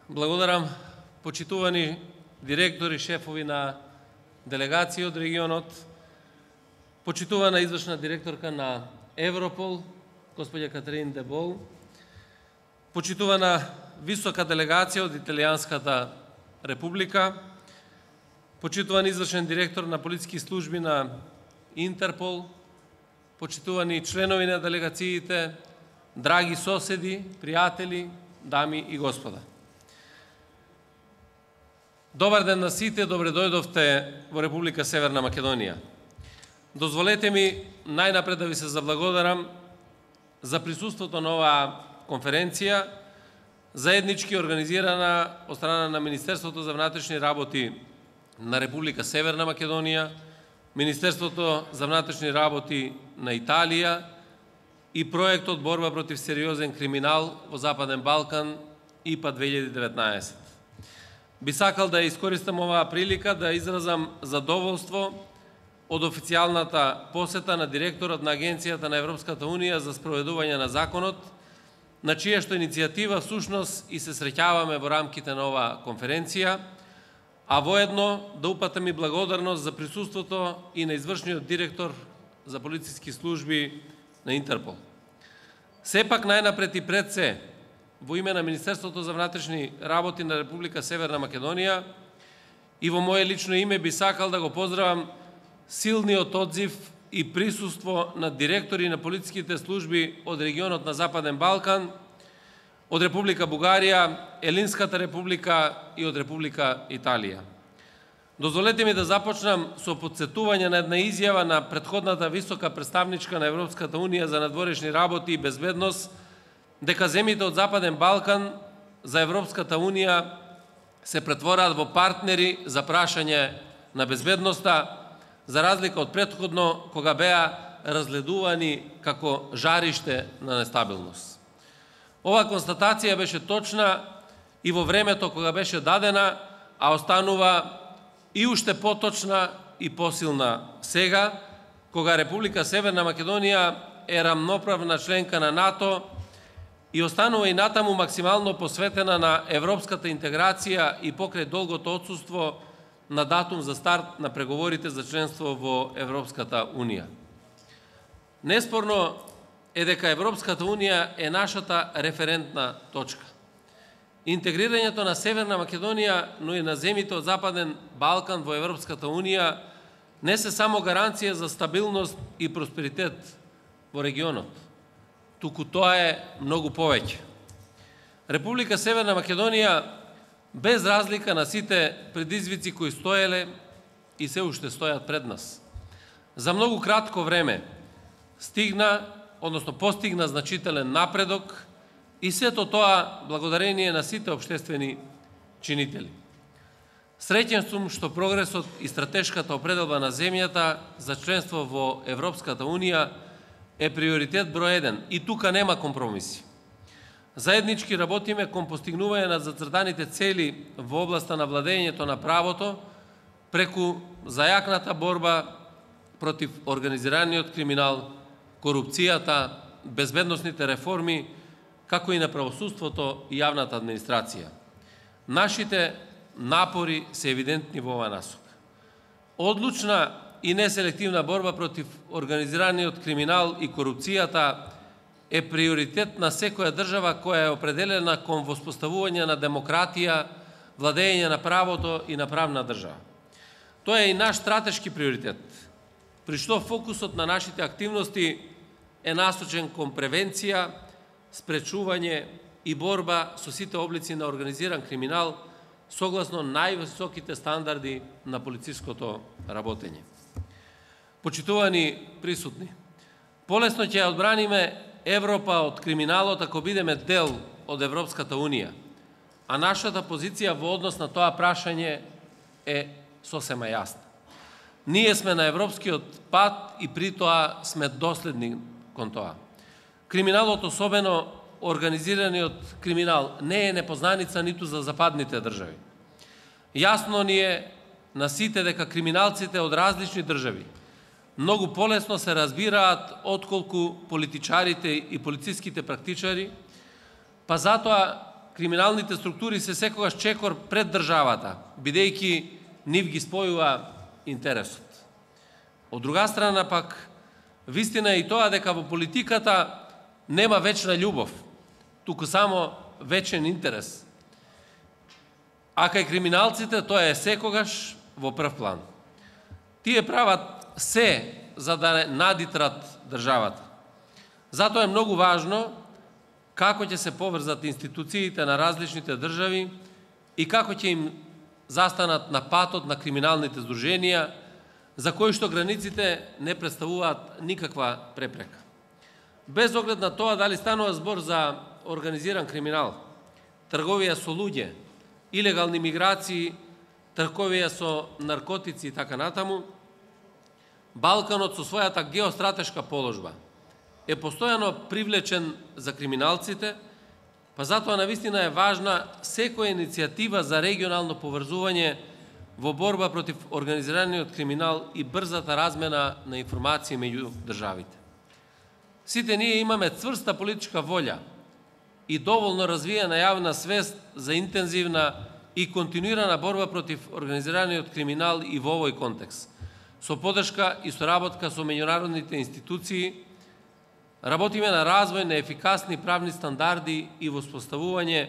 Благодарам, почитувани директори, шефови на делегации од регионот, почитувана извршна директорка на Европол, господја Катерин Дебол, почитувана висока делегација од Италијанската република, почитуван извршен директор на полициски служби на Интерпол, почитувани членови на делегациите, драги соседи, пријатели, дами и господа. Добар ден на сите, добре дојдовте во Република Северна Македонија. Дозволете ми најнапред да ви се заблагодарам за присуството на оваа конференција, заеднички организирана од страна на Министерството за внатрешни работи на Република Северна Македонија, Министерството за внатрешни работи на Италија и проектот Борба против сериозен криминал во Западен Балкан ИПА 2019. Би сакал да искористам оваа прилика да изразам задоволство од официјалната посета на директорот на Агенцијата на Европската Унија за спроведување на законот, на чија што иницијатива всушност и се среќаваме во рамките на оваа конференција, а воедно да упатам и благодарност за присуството и на извршниот директор за полициски служби на Интерпол. Сепак најнапред и пред се, во име на Министерството за внатрешни работи на Република Северна Македонија и во моје лично име би сакал да го поздравам силниот одзив и присуство на директори на полициските служби од регионот на Западен Балкан, од Република Бугарија, Елинската република и од Република Италија. Дозволете ми да започнам со потсетување на една изјава на претходната висока представничка на Европската Унија за надворешни работи и безбедност, дека земјите од Западен Балкан за Европската Унија се претвораат во партнери за прашање на безбедноста, за разлика од претходно кога беа разгледувани како жариште на нестабилност. Ова констатација беше точна и во времето кога беше дадена, а останува и уште поточна и посилна сега, кога Република Северна Македонија е рамноправна членка на НАТО и останува и натаму максимално посветена на европската интеграција и покрај долгото отсуство на датум за старт на преговорите за членство во Европската Унија. Неспорно е дека Европската Унија е нашата референтна точка. Интегрирањето на Северна Македонија, но и на земјите од Западен Балкан во Европската Унија не се само гаранција за стабилност и просперитет во регионот, туку тоа е многу повеќе. Република Северна Македонија, без разлика на сите предизвици кои стоеле и се уште стојат пред нас, за многу кратко време постигна значителен напредок и сето тоа благодарение на сите општествени чинители. Среќен сум што прогресот и стратешката определба на земјата за членство во Европската Унија е приоритет број 1 и тука нема компромиси. Заеднички работиме кон постигнување на зацртаните цели во областа на владењето на правото преку зајакната борба против организираниот криминал, корупцијата, безбедносните реформи, како и на правосудството и јавната администрација. Нашите напори се евидентни во оваа насока. Одлучна и неселективна борба против организираниот криминал и корупцијата е приоритет на секоја држава која е определена кон воспоставување на демократија, владење на правото и на правна држава. Тоа е и наш стратешки приоритет, при што фокусот на нашите активности е насочен кон превенција, спречување и борба со сите облици на организиран криминал согласно највисоките стандарди на полициското работење. Почитувани присутни, полесно ќе ја одбраниме Европа од криминалот ако бидеме дел од Европската Унија, а нашата позиција во однос на тоа прашање е сосема јасна. Ние сме на европскиот пат и при тоа сме доследни кон тоа. Криминалот, особено организираниот криминал, не е непознаница ниту за западните држави. Јасно ни е на сите дека криминалците од различни држави многу полесно се разбираат отколку политичарите и полициските практичари, па затоа криминалните структури се секогаш чекор пред државата, бидејќи нив ги спојува интересот. Од друга страна пак, вистина е и тоа дека во политиката нема вечна љубов, туку само вечен интерес. А кај криминалците тоа е секогаш во прв план. Тие прават се за да надитрат државата. Затоа е многу важно како ќе се поврзат институциите на различните држави и како ќе им застанат на патот на криминалните здруженија, за кои што границите не представуваат никаква препрека. Без оглед на тоа дали станува збор за организиран криминал, трговија со луѓе, илегални миграции, трговија со наркотици и така натаму, Балканот со својата геостратешка положба е постојано привлечен за криминалците, па затоа навистина е важна секоја иницијатива за регионално поврзување во борба против организираниот криминал и брзата размена на информации меѓу државите. Сите ние имаме цврста политичка волја и доволно развиена јавна свест за интензивна и континуирана борба против организираниот криминал и во овој контекст, со поддршка и соработка со меѓународните институции. Работиме на развој на ефикасни правни стандарди и воспоставување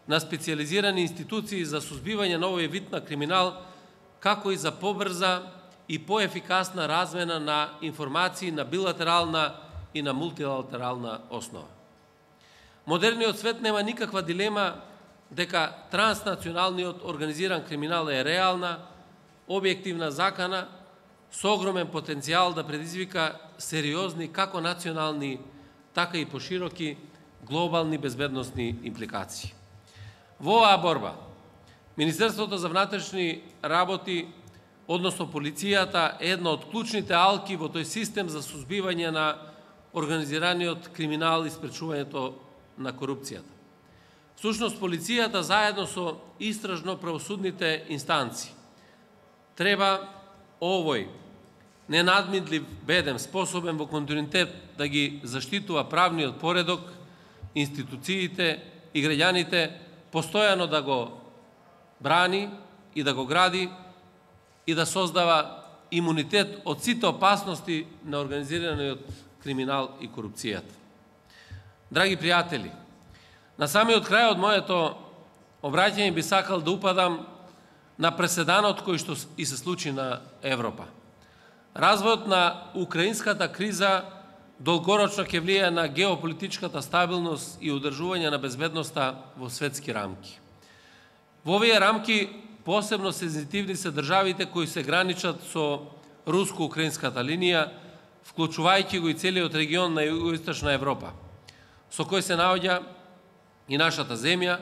на специализирани институции за сузбивање на овој вид на криминал, како и за побрза и поефикасна размена на информации на билатерална и на мултилатерална основа. Модерниот свет нема никаква дилема дека транснационалниот организиран криминал е реална, објективна закана, со огромен потенцијал да предизвика сериозни како национални, така и пошироки глобални безбедносни импликации. Во оваа борба, Министерството за внатрешни работи, односно полицијата, е една од клучните алки во тој систем за сузбивање на организираниот криминал и спречувањето на корупцијата. Всушност, полицијата заедно со истражно-правосудните инстанции треба овој ненадмидлив бедем, способен во континуитет да ги заштитува правниот поредок, институциите и граѓаните, постојано да го брани и да го гради и да создава имунитет од сите опасности на организираниот криминал и корупцијата. Драги пријатели, на самиот крај од моето обраќање би сакал да упадам на преседанот кој што и се случи на Европа. Развојот на украинската криза долгорочно ќе влијае на геополитичката стабилност и одржување на безбедноста во светски рамки. Во овие рамки посебно сензитивни се државите кои се граничат со руско-украинската линија, вклучувајќи го и целиот регион на Југоисточна Европа, со кој се наоѓа и нашата земја,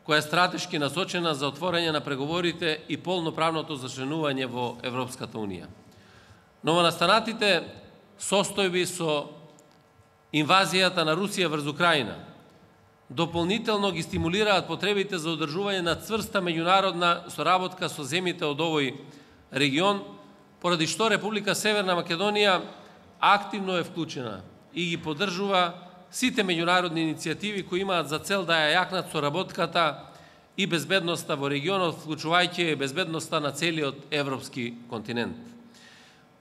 која е стратешки насочена за отворање на преговорите и полноправното зачленување во Европската Унија. Новонастанатите состојби со инвазијата на Русија врз Украина дополнително ги стимулираат потребите за одржување на цврста меѓународна соработка со земјите од овој регион, поради што Република Северна Македонија активно е вклучена и ги поддржува сите меѓународни иницијативи кои имаат за цел да ја јакнат соработката и безбедноста во регионот, вклучувајќи безбедноста на целиот европски континент.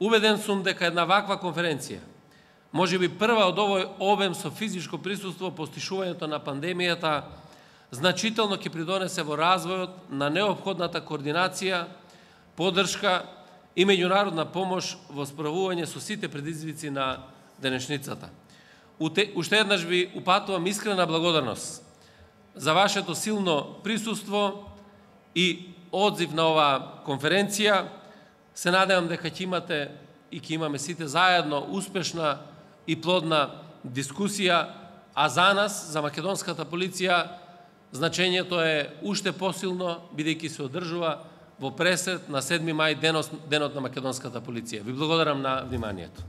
Убеден сум дека една ваква конференција, можеби прва од овој обем со физичко присуство по стишувањето на пандемијата, значително ќе придонесе во развојот на неопходната координација, поддршка и меѓународна помош во справување со сите предизвици на денешницата. Уште еднаш ви упатувам искрена благодарност за вашето силно присуство и одзив на оваа конференција. Се надевам дека ќе имате и ќе имаме сите заедно успешна и плодна дискусија, а за нас, за македонската полиција, значењето е уште посилно, бидејќи се одржува во пресрет на 7 мај, денот на македонската полиција. Ви благодарам на вниманието.